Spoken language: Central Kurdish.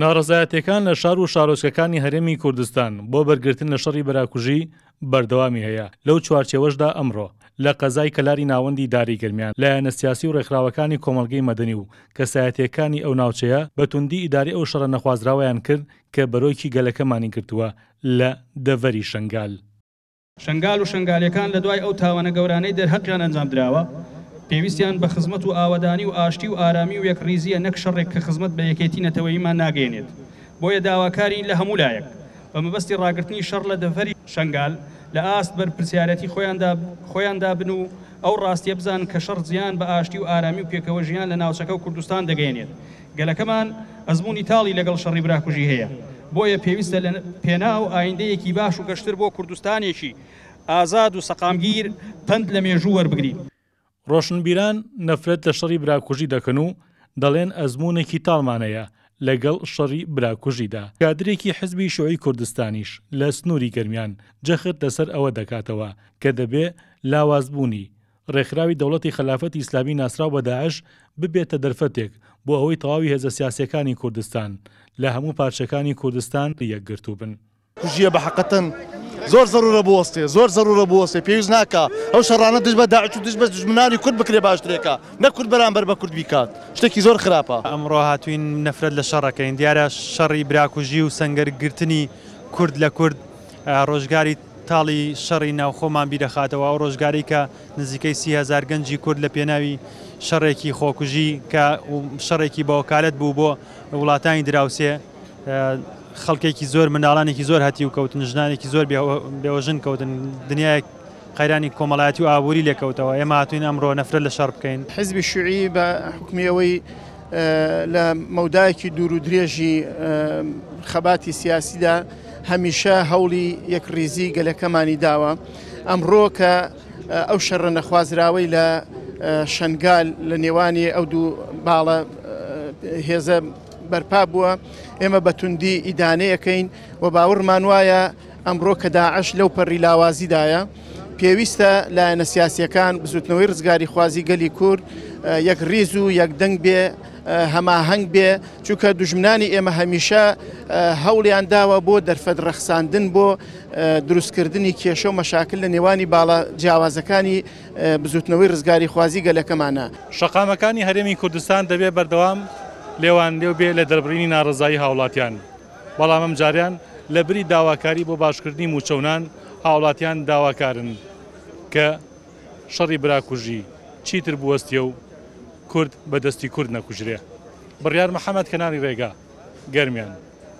ناڕەزایەتیەکان لە شار و شارۆچکەکانی هەرێمی کوردستان بۆ بەرگرتن لە شەڕی براکوژی بەردەوامی هەیە، لەو چوارچێوەشدا ئەمڕۆ لە قەزای کەلاری ناوەندی داری گەرمیان لایەنە سیاسی و ڕێکخراوەکانی کۆمەڵگەی مەدەنی و کەسایەتیەکانی ئەو ناوچەیە بە توندی ئیدارەی ئەو شەڕە نەخوازراوەیان کرد کە بەرۆکی گەلەکەمانی گرتووە لە دەڤەری شەنگال. شەنگال و شەنگالیەکان لە دوای ئەو تاوانە گەورانەی دەرهەقیان ئەنجام دراوە، پێویستیان بە خزمەت و ئاوەدانی و ئاشتی و ئارامی و یەکڕیزییە نەک شەڕێک کە خزمەت بە یەکێتی نەتەوەییمان ناگەیەنێت. بۆیە داواکارین لە هەموو لایەک بە مەبەستی ڕاگرتنی شەڕ لە دەڤەری شەنگال لە ئاست بەرپرسیارەتی خۆیاندا خۆیاندا بن و ئەو ڕاستیە بزانن کە شەڕ زیان بە ئاشتی و ئارامی و پێکەوە ژیان لە ناوچەکە و کوردستان دەگەیەنێت. گەلەکەمان ئەزموونی تاڵی لەگەڵ شەڕی براکوژی هەیە، بۆیە پێویستە لە پێناو ئایندەیەکی باش و گەشتر بۆ کوردستانێکی ئازاد و سەقامگیر پەند لە مێژوو وەربگرین. ڕۆشنبیران نەفرەت لە شەڕی براکوژی دەکەن و دەڵێن ئەزموونێکی تاڵمان هەیە لەگەڵ شەڕی براکوژیدا. کادرێکی حزبی شیوعی کوردستانیش لە سنووری گەرمیان جەخت لەسەر ئەوە دەکاتەوە کە دەبێ لاوازبوونی ڕێکخراوی دەوڵەتی خەلافەتی ئیسلامی ناسراو بە داعش ببێتە دەرفەتێک بۆ ئەوەی تەواوی هێزە سیاسییەکانی کوردستان لە هەموو پارچەکانی کوردستان یەکگرتوو بن. کوژیە بە حەقەتەن زۆر زەرورە بوەستێ زۆر زەرورە بوەستێ پێویست ناکا ئەو شەڕانە دژ بە داعش و دژ بە دوژمنانی کورد بکرێ باشترێکە نەک کورد بەرامبەر بە کورد بیکات شتێکی زۆر خراپە. ئەمڕۆ هاتووین نەفرەت لە شەڕەکەین دیارە شەڕی براکوژی و سەنگەر گرتنی کورد لە کورد ڕۆژگاری تاڵی شەڕی ناوخۆمان بیرەخاتەوە، ئەو ڕۆژگارەی کە نزیکەی 30 هەزار گەنجی کورد لە پێناوی شەڕێکی خۆکوژی کە شەڕێکی بەوەکالەت بوو بۆ وڵاتانی دراوسێ، خەڵکێکی زۆر، منداڵانێکی زۆر هەتیو کەوتن، ژنانێکی زۆر بێوەژن کەوتن، دنیایەک قەیرانی کۆمەڵایەتی و ئابووری لێکەوتەوە. ئێمە هاتووین ئەمڕۆ نەفرەت لە شەڕ بکەین. حزبی شیوعی بە حوکمی ئەوەی لە مەودایەکی دوور و درێژی خەباتی سیاسیدا هەمیشە هەوڵی یەکڕیزی گەلەکەمانی داوە، ئەمڕۆ کە ئەو شەڕە نەخوازراوەی لە شەنگال لە نێوانی ئەو دوو باڵە هێزە بەرپا بووە، ئێمە بە توندی ئیدانەیەکەین و باوەڕمان وایە ئەمڕۆ کە داعش لەو پەڕی لاوازیدایە، پێویستە لایەنە سیاسییەکان، بزوتنەوەی ڕزگاریخوازی گەلی کورد یەک ڕیز و یەک دەنگ بێ، هەماهەنگ بێ، چونکە دوژمنانی ئێمە هەمیشە هەوڵیان داوە بۆ دەرفەت ڕەخساندن بۆ دروستکردنی کێشە و مەشاکل لە نێوانی باڵە جیاوازەکانی بزوتنەوەی ڕزگاریخوازی گەلەکەمانە. شەقامەکانی هەرێمی کوردستان دەبێ بەردەوام لێوانلێو بێ لە دەربڕینی ناڕەزایی هاوڵاتیان. بەڵام ئەمجارەیان لەبری داواکاری بۆ باشکردنی مووچە و نان، هاوڵاتیان داواکارن کە شەڕی براکوژی چیتر بوەستێ و کورد بە دەستی کورد نەکوژرێ. بڕیار محەمەد، کەناڵی رێگا، گەرمیان.